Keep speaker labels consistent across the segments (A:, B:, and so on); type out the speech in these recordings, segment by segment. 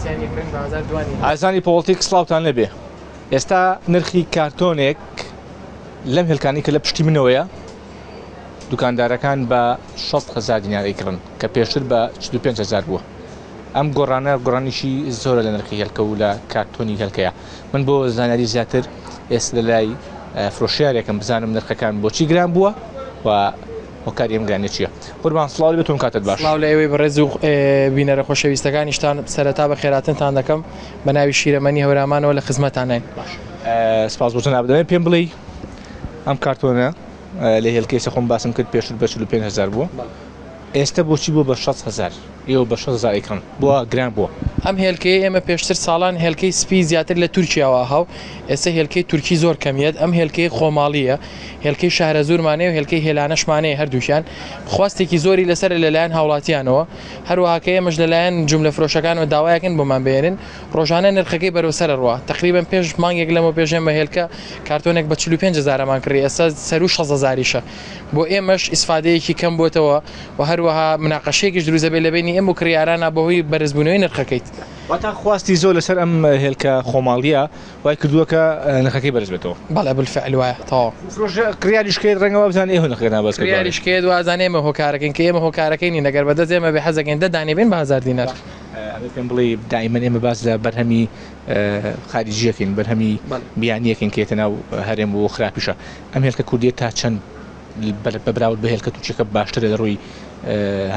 A: کەسیان یەکرن بە 1002.
B: ئازیزانی پۆڵتیک سڵاوتان لێبێ. ئێستا نرخی کارتۆنێک لەم هێلکانەی کە لە پشتی منەوەیە دوکاندارەکان بە 6 هەزار دینار ئەیکڕن کە پێشتر بە 45 هەزار بووە. ئەم گۆڕانە گۆڕانێکی زۆرە لە نرخی هێلکە و لە کارتۆنی هێلکەیە. من بۆ زانیاری زیاتر ئێستا لە لای فرۆشیارێکم بزانم نرخەکان بۆچی گران بووە و هۆکاری ئەم گرانیە چییە؟ قوربان سڵاو لێ بێت و کاتت باش.
A: سڵاو لە ئێوەی بەڕێز و بینەرە خۆشەویستەکانیشتان سەرەتا بەخێراتنتان دەکەم بە ناوی شیرەمەنی هەورامانەوە لە خزمەتانین.
B: سپاس بۆ جەنابت دەمەوێت پێم بڵێی ئەم کارتۆنە لە هێلکەی سە خۆم باسم کرد پێشتر بە 45 هەزار بووە ئێستە بۆچی بووە بە 6 هەزار ئێوە بە 6 هەزار ئەیکڕن بۆ گران بووە؟
A: ئەم هێلکەیە ئێمە پێشتر ساڵان هێلکەی سپی زیاتر لە تورکیاوە هاو ئێستا هێلکەی تورکی زۆر کەمیەت ئەم هێلکەی خۆماڵیە هێلکەی شارەزوورمان هەیە و هێلکەی هێلانەشمان هەیە هەردووکیان خواستێکی زۆری لەسەرە لەلایەن هاوڵاتیانەوە هەروەها کە ئێمەش لەلایەن جوملە فرۆشەکانەوە داوایەکەن بۆمان بهێنن ڕۆژانە نرخەکەی بەرەو سەر ئەڕوا تەقریبەن پێش مانگێک لەمەو پێش ئێمە هێلکە کارتۆنێک بە 45 هەزارەمان کڕی ئێستا سەروو 60 هەزاریشە بۆ ئێمەش ئیسفادەیەکی کەم بۆتەوە و هەروەها مناقەشەیەکیش دروست دەبێت لە بەینی ئێمە و کڕیارانا بەهۆی بەرزبوونەوەی نرخەکەیت.
B: واتا خواستی زۆر لەسەر ئەم هێلکە خۆماڵییە وای کردووە کە نرخەکەی بەرز بێتەوە.
A: بەڵێ بالفعل وایە تەواو.
B: فرۆشە کڕیاریش کەیت ڕەنگە وابزانێ ئێوە نرخەکەتان بەرز کردووە.
A: کڕیاریش کەیت وازانێ ئێمە هۆکارەکەین کە ئێمە هۆکارەکەی نین ئەگەر بەدەست ئێمە بێ حەزەکەین دە دانەی بێن بە هەزار دینار.
B: ئەبێ پێم بڵێی دائیمەن ئێمە باس لە بەرهەمی خاریجیەکەین بەرهەمی بیانیەکەین کە یەتە ناو هەرێم و خراپیشە ئەم هێلکە کوردیە تا چەند بە براورد بە هێلکە تورکیەکە باشترە لە ڕووی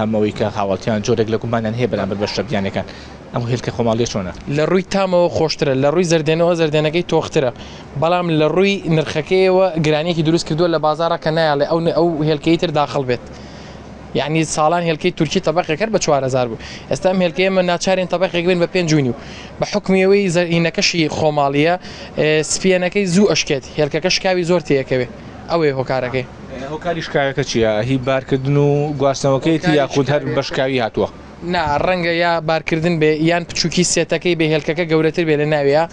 B: هەمەوەی کە هاوڵتیان جۆرێک لە گومانیان هەیە بەرامبەر بە شتە بیانەکان ئەم هێلکە خۆماڵیە چۆنە؟
A: لە ڕووی تامەوە خۆشترە لە ڕووی زەردێنەوە زەردێنەکەی تۆخترە بەڵام لە ڕووی نرخەکەیەوە گرانیەکی دروست کردووە لە بازاڕا کە نایەڵێ ئەو ئەو هێلکەی تر داخڵ بێت یعنی ساڵان هێلکەی تورکی تەبقێک هەر بە 4000 بوو ئێستا ئەم هێلکەیە من ناچارین تەبقێک بین بە پێنج و نیو بە حکمی ئەوەی زەرینەکەشی خۆماڵیە سپیەنەکەی زوو ئەشکێت هێلکەکە شکاوی زۆر تێکەوێ ئەوەیە هۆکارەکەی.
B: هۆکاری شکاوەکە چییە؟ هی بارکردن و گواستنەوەکەیەتی یاخود هەر بە شکاوی هاتووە؟
A: نا ڕەنگە یا بارکردن بێ یان بچووکی سێتەکەی بێ هێلکەکە گەورەتر بێ لە ناویا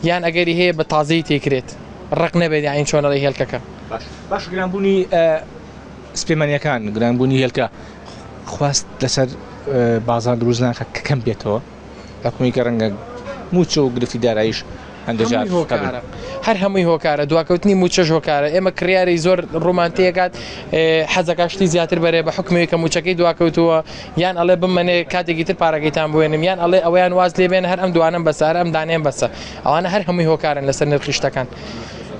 A: یان ئەگەری هەیە بە تازەیی تێکرێت ڕەق نەبێت یانی چۆن ئەڵێی هێلکەکە.
B: باش باش گرانبوونی سپێمەنیەکان گرانبوونی هێلکە خواست لەسەر بازار دروست ناکات کە کەم بێتەوە؟ حکومی کە ڕەنگە مووچە و گرفتی داراییش هەندێک جار
A: هەمووی هۆکارە هەر هەمووی هۆکارە دواکەوتنی مووچەش هۆکارە ئێمە کڕیاری زۆر ڕوومان تێکات حەزەکە شتی زیاتر بەرێ بە حکومی کە مووچەکەی دواکەوتووە یان ئەڵێ بمەنێ کاتێکی تر پارەکەیتان بوێنم یان ئەڵێ ئەویان واز لێ بێن هەر ئەم دوانم بەسە هەر ئەم دانێم بەسە ئەوانە هەر هەمووی هۆکارن لەسەر نرخی شتەکان.